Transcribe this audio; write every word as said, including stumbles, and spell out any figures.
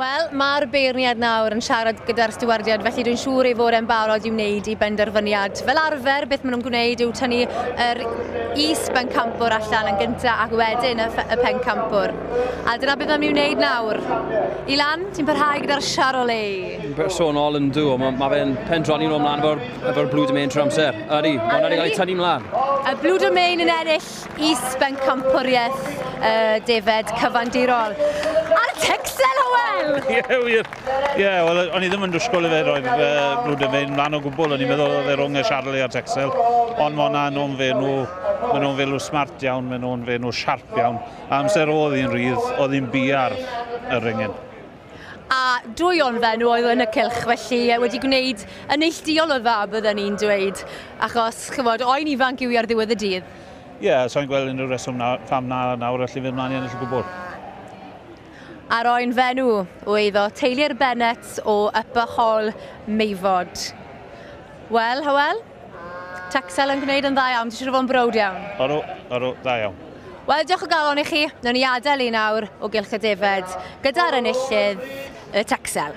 Wel, mae'r beirniad nawr yn siarad gyda'r stiwardiad, felly dwi'n siŵr ei fod e'n barod i wneud i benderfyniad. Fel arfer, beth maen nhw'n gwneud yw tynnu yr is-bencampwr allan yn gyntaf ac wedyn y, y pencampwr. A dyna beth maen nhw'n wneud nawr. Ilan, ti'n parhau gyda'r Charolais? Bersonol yn dw, mae ma fe'n pendroni nhw ymlaen efo'r efo Blue Domain trwy amser. Ydy, mae hwnna wedi cael ei tynnu ymlaen. Y Blue Domain yn ennill is-bencampwriaeth uh, defed cyfandirol. A'r Texel, Hywel! Ie, wir. Ie, wel, o'n i ddim yn dysgwyl i fe roi'r uh, Blue Domain mlaen o gwbl. O'n i'n meddwl oedd e rhwng y Charolais a'r Texel. Ond mae hwnna nhw'n fenw, maen nhw'n felw smart iawn, maen nhw'n fenw siarp iawn. A amser oedd hi'n rhydd, oedd hi'n biar y ringen. A dwy o'n fenw oedd yn y cylch, felly wedi gwneud yn neilltuol o dda, byddwn ni'n dweud. Achos, chymod, oen ifanc yw i ar ddiwedd y dydd. Ie, yeah, so'n gweld unrhyw reswm na, pham na nawr allu fynd mlaen i ennill o gwbl. A'r oen fenw o eiddo teulu'r Bennett o Upper Hall Meifod. Wel, Hywel, Texel yn gwneud yn dda iawn, ti'n siŵr o fod yn browd iawn? Odw, odw, dda iawn. Wel, diolch o galon i chi. Nawn ni adael i nawr o Gylch y Defed gyda'r enillydd, y Texel.